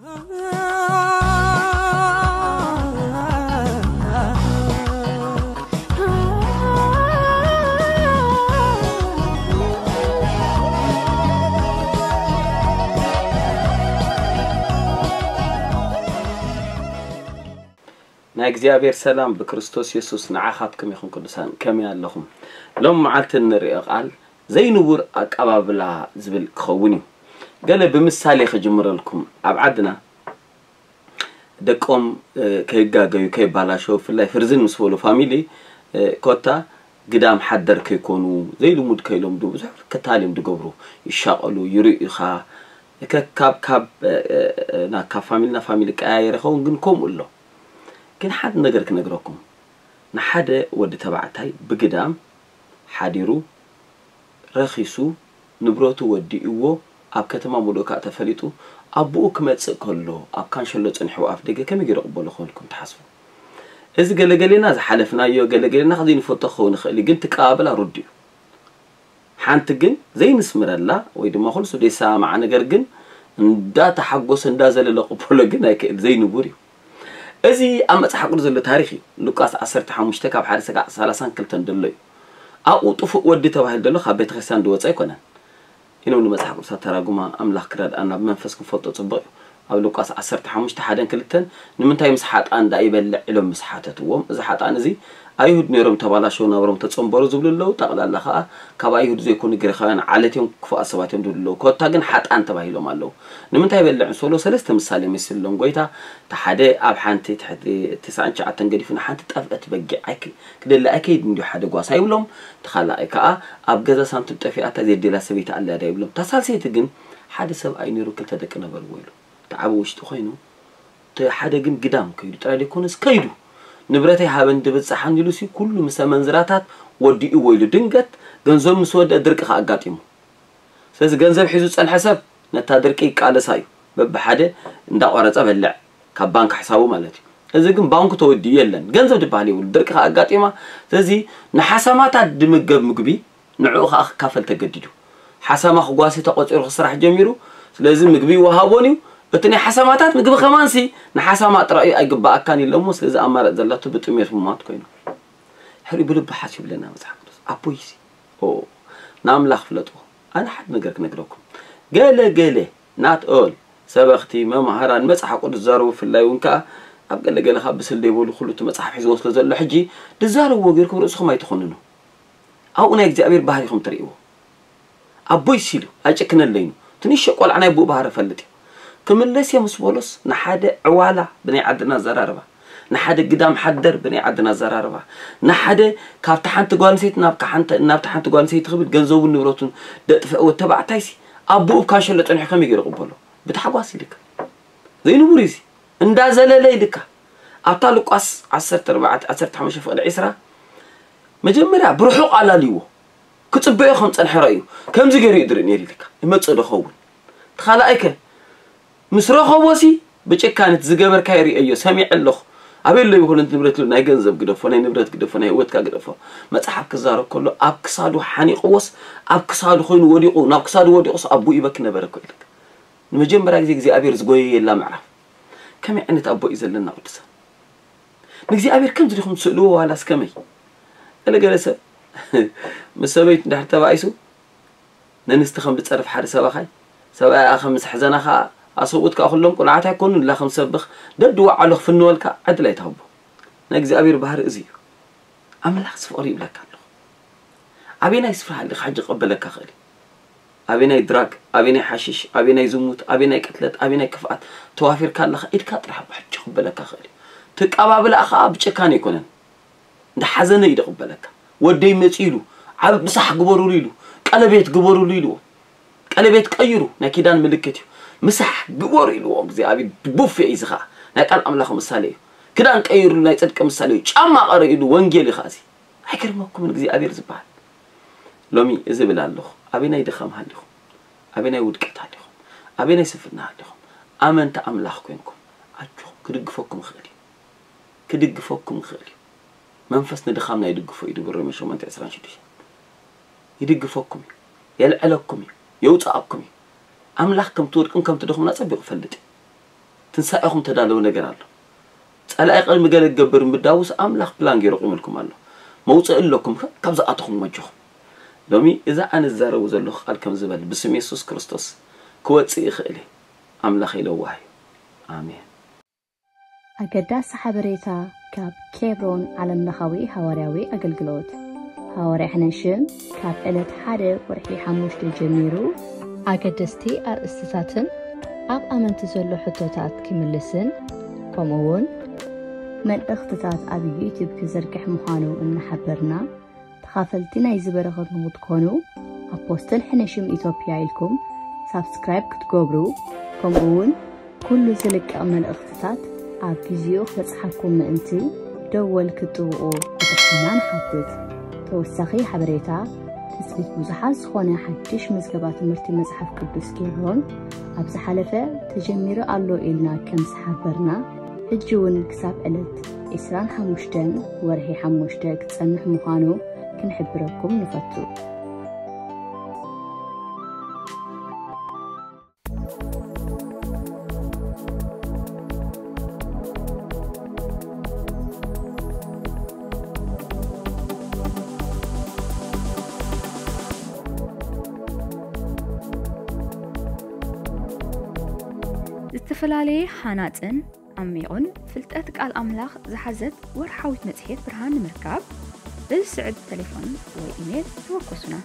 ናይ እግዚኣብሔር ሰላም ብክርስቶስ የሱስ ንዓኻትኩም ይኹን። ቅዱሳን፣ ከመይ ኣለኹም? ሎም መዓልቲ እንርእዮ ቃል ዘይንቡር ኣቀባብላ ዝብል ክኸውን እዩ። ገለ ብምሳሌ ክጅምረልኩም። ኣብ ዓድና ደቆም፣ እ፣ ከይጋገዩ፣ ከይባላሸው፣ ብፍላይ ፍርዝን ምስ በሉ ፋሚሊ፣ እ፣ ኮታ ግዳም ሓደር ከይኮኑ፣ ዘይልሙድ ከይለምዱ፣ ብዙሕ ክታል እዮም ዝገብሩ። ይሻቐሉ፣ ይርእዩኻ። ከ-፣ ካብ፣ ካብ፣ እ፣ እ፣ ና-፣ ካብ ፋሚሊ ናብ ፋሚሊ ቀያየር ይኸውን፣ ግን ከምኡ ኣሎ። ግን ሓንቲ ነገር ክነግረኩም። ንሓደ ወዲ ተባዕታይ ብግዳም ሓዲሩ፣ ረኺሱ፣ ንብረቱ ወዲእዎ፣ ኣብ ከተማ ምሉእ ከኣ ተፈሊጡ፣ ኣቦኡ ክመጽእ ከሎ፣ ኣብ ካንሸሎ ጸኒሕዎ ኣፍ ደገ ከመይ ገይሩ ክቕበሎ ክኸውን ኢልኩም ትሓስቡ? እዚ ገለገሌና ዝሓለፍናዮ፣ ገለገሌና ከዘይንፈልጦ ክኸውን ይኽእል እዩ፣ ግን ትቀባበላ ርዱእ እዩ። ሓንቲ ግን ዘይንስምረላ ወይ ድማ ኩሉ ሰብ ዘይሰማማዓ ነገር ግን እንዳተሓጎሰ እንዳዘለለ ቅበሎ ግን ኣይክእል፣ ዘይንቡር እዩ። እዚ ኣብ መጽሓፍ ቅዱስ ዘሎ ታሪኽ እዩ። ሉቃስ ዓሰርተ ሓሙሽተ ካብ ሓደ ስጋዕ ሰላሳን ክልተን ዘሎ እዩ። ኣብኡ ጥፉእ ወዲ ተባሂሉ ዘሎ ካብ ቤተክርስትያን ዝወጸ ኣይኮነን። ኢሎም ንመጽሓፍ ቅዱስ ኣተራጉማ ኣምላኽ ክረድኣና ብመንፈስ ክንፈልጦ ጽቡቕ እዩ። ኣብ ሉቃስ ዓሰርተ ሓሙሽተ ሓደን ክልተን ንምንታይ ምስ ሓጥኣን ደኣ ይበልዕ ኢሎም ምስ ሓተትዎም፣ እዚ ሓጥኣን እዚ ኣይሁድ ነይሮም ተባላሸው ናብሮም ተጸንበሩ ዝብሉ ኣለዉ። ጠቕላላ ከኣ ካብ ኣይሁድ ዘይኮኑ ግሪኻውያን ዓለት እዮም፣ ክፉኣት ሰባት እዮም ዝብሉ ኣለዉ። ኮታ ግን ሓጥኣን ተባሂሎም ኣለዉ። ንምንታይ ይበልዕ ምስ በሎ ሰለስተ ምሳሌ መሲልሎም ጎይታ። እቲ ሓደ ኣብ ሓንቲ ትሕቲ ተስዓን ትሽዓተን ገዲፉ ንሓንቲ ጠፍአት በጊዕ ኣይክ-፣ ክደሊ ኣይከይድን ድዩ ሓደ ጓሳ ይብሎም። እቲ ካልኣይ ከኣ ኣብ ገዛ ሳንቲም ጠፊኣታ ዘየድልያ ሰበይቲ ኣለያ ዶ ይብሎም። እታ ሳልሰይቲ ግን ሓደ ሰብኣይ ነይሩ ክልተ ደቂ ነበርዎ ኢሉ። እቲ ዓቢ ውሽጢ ኮይኑ፣ እቲ ሓደ ግን ግዳም ከይዱ ጥራይ ዘይኮነስ ከይዱ፣ "ንብረተይ ሃበኒ ድብል ጸሓኒ" ኢሉሲ ኩሉ ምስ ኣመንዝራታት ወዲእዎ ኢሉ። ድንገት ገንዘቡ ምስ ወደአ ድርቂ ከኣ ኣጋጢሙ። ስለዚ ገንዘብ ሒዙ ዝጸንሐ ሰብ ነታ ድርቂ ይቃለሳ እዩ። በብሓደ እንዳቆረጸ በልዕ፣ ካብ ባንክ ሕሳቡ ማለት እዩ። እዚ ግን ባንኩ ተወዲኡ የለን፣ ገንዘብ ዝበሃል የብሉ፣ ድርቂ ከኣ ኣጋጢማ። ስለዚ ንሓሰማታት ድምገብ ምግቢ ንዕኡ ከኣ ክካፈል ተገዲዱ። ሓሰማ ክጓሲ ተቆጺሩ ክስራሕ ጀሚሩ። ስለዚ ምግቢ ይወሃቦን እዩ። እቲ ናይ ሓሰማታት ምግቢ ከማንሲ ንሓሰማ ጥራይ እዩ፣ ኣይግባኣካን ኢሎሞ። ስለዚ ኣማራጺ ዘላቶ ብጥሜት ምሟት ኮይኑ። ሕሪ ብልቢ ሓስብ ይብለና መጽሓፍ ቅዱስ። ኣቦይሲ፣ ኦ፣ ንኣምላኽ ፍለጥዎ። ኣነ ሓደ ነገር ክነግረኩም። ገለ ገለ፣ not all፣ ሰበኽቲ፣ መማህራን፣ መጽሓፍ ቅዱስ ዝዛረቡ ብፍላይ እውን ከኣ ኣብ ገለ ገለ ካብ ብስል ዘይበሉ ኩሉ እቲ መጽሓፍ ሒዝዎ ስለ ዘሎ ሕጂ ዝዛረብዎ ገይርኩም ርእስኹም ኣይትኹንኑ። ኣብኡ ናይ እግዚኣብሔር ባህሪ ኢኹም ትርእይዎ። ኣቦይ ሲሉ ኣይጭክነለይኑ። እቲ ንእሽቶ ቆልዓ ናይ ኣቦኡ ባህሪ ይፈልጥ እዩ። ክምለስ እየ ምስ በሎስ ንሓደ ዕዋላ ብናይ ዓድና ኣዘራርባ፣ ንሓደ ግዳም ሓደር ብናይ ዓድና ኣዘራርባ፣ ንሓደ ካብቲ ሓንቲ ጓል ኣንስተይቲ ናብ ሓንቲ፣ ናብቲ ሓንቲ ጓል ኣንስተይቲ ክብል ገንዘቡን ንብረቱን ደጥፍአ ወዲ ተባዕታይሲ ኣቦኡ ኣብ ካንሸሎ ጸኒሑ ከመይ ገይሩ ይቕበሎ? ብታሕጓስ ኢልካ። ዘይንቡር እዩ እዚ። እንዳዘለለ ኢልካ። ኣብታ ሉቃስ ዓሰርተ ኣርባዕተ፣ ዓሰርተ ሓሙሽተ ፍቕዲ ዕስራ፣ መጀመርያ ብርሑቕ ኣላልይዎ። ክጽበዮ ከም ጸንሐ ረእዩ። ከምዚ ገይሩ እዩ ዝርኢ ነይሩ ኢልካ። ይመጽእ ዶ ኸውን? እቲ ካልኣይከ? ምስ ረኸቦሲ ብጭካነ እቲ ዝገበርካዮ ርእየዮ፣ ሰሚዐ ኣለኹ። ኣበይ ኣሎ ይኹን እቲ ንብረት ኢሉ ናይ ገንዘብ ግደፎ፣ ናይ ንብረት ግደፎ፣ ናይ ህይወትካ ግደፎ። መጽሓፍ ክዛረብ ከሎ ኣብ ክሳዱ ሓኒቕዎስ፣ ኣብ ክሳዱ ኮይኑ ወዲቑ፣ ናብ ክሳዱ ወዲቑስ ኣቦኡ ይበኪ ነበረ እኮ ኢልካ። ንመጀመርያ ግዜ እግዚኣብሔር ዝጎየየላ ምዕራፍ። ከመይ ዓይነት ኣቦ እዩ ዘለና ቅዱሳን? ንእግዚኣብሔር ከምዚ ዲኹም ትስእልዎ ዋላስ ከመይ? ገለ ገለ ሰብ ምስ ሰበይቱ እንድሕር ተባኢሱ ነንስቲ ከም ዝጸርፍ ሓደ ሰባኻይ፣ ሰብኣያ ከም ዝሕዘና ኸኣ ኣሰብኡት ከኣ ኩሎም ቁኑዓት ኣይኮኑን ኢላ ከም ዝሰብኽ ደድዋዓሎ ክፍንወልካ ዕድል ኣይትሃቦ። ናይ እግዚኣብሔር ባህሪ እዚ እዩ። ኣምላኽ ፍቕሪ ይብለካ ኣለኹ። ኣበየናይ ስፍራ ሃሊኻ ሕጂ ክቕበለካ ክእል እዩ? ኣበየናይ ድራግ፣ ኣበየናይ ሓሽሽ፣ ኣበየናይ ዝሙት፣ ኣበየናይ ቅትለት፣ ኣበየናይ ክፍኣት ተዋፊርካ ኣለኻ? ኢድካ ጥራሕ ኣቦ ሕጂ ክቕበለካ ክእል እዩ። እቲ ኣቀባብላ ኸኣ ብጭካነ ኣይኮነን። እንዳ ሓዘነ እዩ ዝቕበለካ። ወደይ መጺኡ ኢሉ፣ ዓብ-፣ ምሳሕ ግበሩሉ ኢሉ፣ ቀለቤት ግበሩሉ ኢልዎ። ቀለቤት ቀይሩ ናይ ኪዳን ምልክት እዩ። ምሳሕ ግበሩ ኢልዎ። እግዚኣብሔር ቡፌ እዩ እዚ ኸኣ። ናይ ቃል ኣምላኽ ምሳሌ እዩ። ክዳን ቀይሩሉ ናይ ጽድቂ ምሳሌ እዩ። ጫማ ቀረ ኢሉ ወንጌል እዩ ኸኣ እዚ። ኣይገርመኩምን እግዚኣብሔር ዝበሃል? ሎሚ እዚ እብል ኣለኹ። ኣበየናይ ድኻም ሃሊኹም? ኣበየናይ ውድቀት ሃሊኹም? ኣበየናይ ስንፍና ሃሊኹም? ኣመንቲ ኣምላኽ ኮይንኩም ኣጆኹም ክድግፈኩም ይኽእል እዩ። ክድግፈኩም ይኽእል እዩ። መንፈስ ንድኻምና ይድግፎ እዩ ዝብል ሮሜ ሸሞንተ ዕስራን ሽዱሽተን። ይድግፈኩም እዩ። የልዕለኩም እዩ። የውጽኣኩም እዩ። ኣምላኽ ከም ትወድቁን ከም ትደኽሙን ኣጸቢቑ ይፈልጥ እዩ። ትንሳኤኹም ተዳለዉ ነገር ኣሎ። ጸላኢ ቅድሚ ገለ ክገብር ምዳውስ ኣምላኽ ፕላን ገይሩ ቁምልኩም ኣሎ። መውጽኢ ኣለኩም፣ ካብ ዝኣተኹም መጆኹም። ሎሚ እዛ ኣነ ዝዛረቡ ዘለኹ ቃል ከም ዝበል ብስም የሱስ ክርስቶስ ክወጽእ ይኽእል እዩ። ኣምላኽ ይለዋህ እዩ። ኣሜን። ኣገዳሲ ሓበሬታ ካብ ኬብሮን ዓለምለኻዊ ሃዋርያዊ ኣገልግሎት። ሃዋርያ ሕነሽም ካብ ዕለት ሓደ ወርሒ ሓሙሽተ ጀሚሩ ኣገደስቲ ኣርእስትታትን ኣብ ኣመንቲ ዘሎ ሕቶታት ክምልስን ከምኡ እውን መልእኽትታት ኣብ ዩቲዩብ ክዝርግሕ ምዃኑ እናሓበርና ተኻፈልቲ ናይዚ በረኸት ንክትኮኑ ኣፖስትል ሕነሽም ኢትዮጵያ ኢልኩም ሳብስክራይብ ክትገብሩ ከምኡ እውን ኩሉ ዝልቀቕ መልእኽትታት ኣብ ግዚኡ ክበጽሓኩም ምእንቲ ደወል ክትጥውቑ ብትሕትና ንሓትት። ተወሳኺ ሓበሬታ ትጽቢት ብዙሓት ዝኾነ ሓድሽ መዝገባ ትምህርቲ መጽሓፍ ቅዱስ ኬብሮን ኣብ ዝሓለፈ ተጀሚሩ ኣሎ ኢልና ከም ዝሓበርና ሕጂ እውን ክሳብ ዕለት ዕስራን ሓሙሽተን ወርሒ ሓሙሽተ ክጸንሕ ምዃኑ ክንሕብረኩም ንፈቱ። ዝተፈላለየ ሃናጽን ዓሚቑን ፍልጠት ቃል ኣምላኽ ዝሓዘት ወርሓዊት መጽሔት ብርሃን ንምርካብ በዚ ስዕብ ተሌፎን ወይ ኢሜል ተወከሱና።